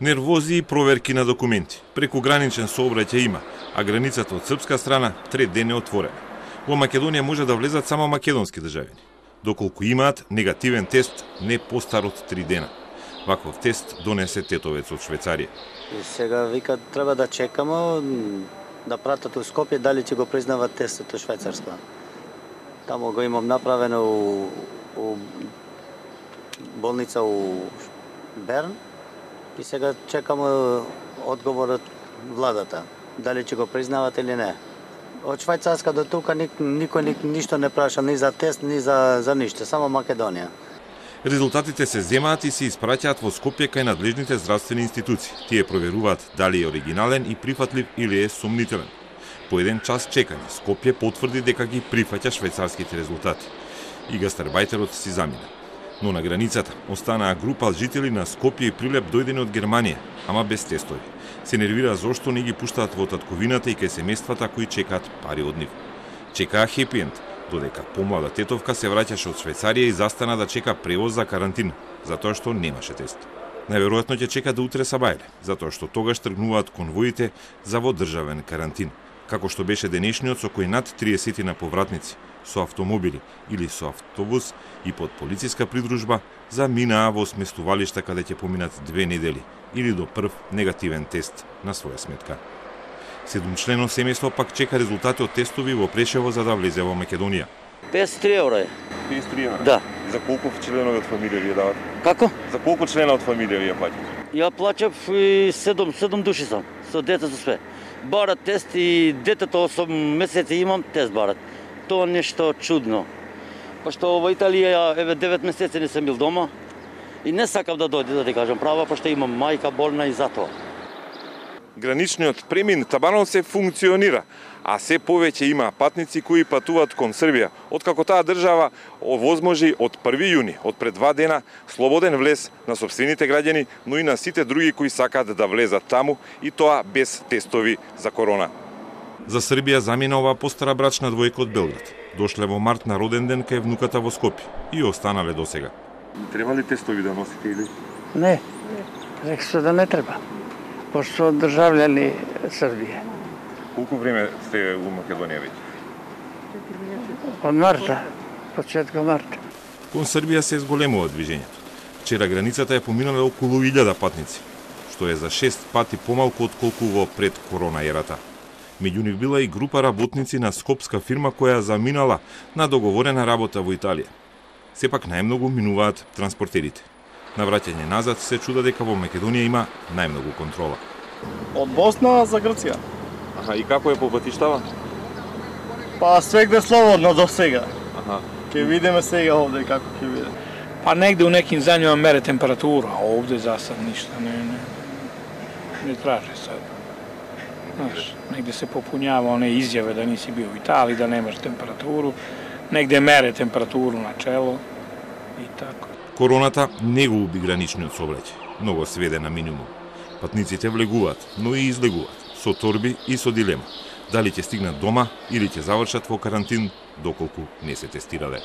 Нервози и проверки на документи. Преку граничен сообраќај има, а границата од српска страна 3 ден е отворена. Во Македонија може да влезат само македонски државјани, доколку имаат негативен тест не постар од 3 дена. Ваков тест донесе тетовец од Швајцарија. И сега вика треба да чекаме да пратат у Скопје дали ќе го признават тестот од Швајцарска. Таму го имам направено у болница у Берн и сега чекаме одговорот владата дали ќе го признават или не. Од Швајцарска до тука никој ништо не праша ни за тест, ни за ништо, само Македонија. Резултатите се земаат и се испраќаат во Скопје кај надлежните здравствени институции. Тие проверуваат дали е оригинален и прифатлив или е сомнителен. По еден час чекање, Скопје потврди дека ги прифаќа швајцарските резултати. И гастарбајтерот си замина. Но на границата останаа група жители на Скопје и Прилеп дојдени од Германија, ама без тестови. Се нервира зошто не ги пуштаат во татковината и кај семејствата кои чекаат пари од нив. Чекаа хепи енд, додека помлада тетовка се враќаше од Швајцарија и застана да чека превоз за карантин, затоа што немаше тест. Најверојатно ќе чека до утре сабајле, затоа што тогаш тргнуваат конвоите за водржавен карантин, како што беше денешниот со кој над 30 на повратници со автомобили или со автобус и под полициска придружба заминаа во сместувалишта каде ќе поминат 2 недели или до прв негативен тест на своја сметка. 7-члено семејство пак чека резултати од тестови во Прешево за да влезе во Македонија. 53 евра е. 53 евра? Да. За колку членови од фамилија ви дават? Како? За колку члена од фамилија ви ја плаќате? Ја плаќав 7 души сам, со дете со све. Барат тест и детето 8 месеци имам, тест барат. Тоа нешто чудно. Пошто во Италија, еве 9 месеци не сум бил дома и не сакав да дојде, да ти кажам права, пошто имам мајка болна и затоа. Граничниот премин табанот се функционира, а се повеќе има патници кои патуваат кон Србија, откако таа држава овозможи од 1 јуни, од пред 2 дена, слободен влез на сопствените граѓани, но и на сите други кои сакаат да влезат таму, и тоа без тестови за корона. За Србија замина оваа постара брачна двојка од Белград. Дошле во март на роден ден кај внуката во Скопје и останале досега. Треба ли тестови да носите или? Не, рексо да не треба, пошто држављани Србија. Колку време сте во Македонија веќе? Од марта, почетка марта. Кон Србија се зголемува движењето. Вчера границата е поминале околу 1000 патници, што е за 6 пати помалку од колку во пред корона ерата. Меѓу нив била и група работници на скопска фирма која заминала на договорена работа во Италија. Сепак најмногу минуваат транспортерите. На враќање назад се чуда дека во Македонија има најмногу контрола. Од Босна за Грција. Аха, и како е по патиштава? Па свегде слободно до сега. Аха. Ќе видиме сега овде како ќе биде. Pa negde u nekim zemljama mere temperaturu, a ovde za sad ništa ne traže sad. Znaš, negde se popunjava one izjave da nisi bio u Italiji, da nemaš temperaturu, negde mere temperaturu na čelo i tako. Короната не го уби граничниот сообраќај, но го сведе на минимум. Патниците влегуваат, но и излегуваат, со торби и со дилема. Дали ќе стигнат дома или ќе завршат во карантин, доколку не се тестирале.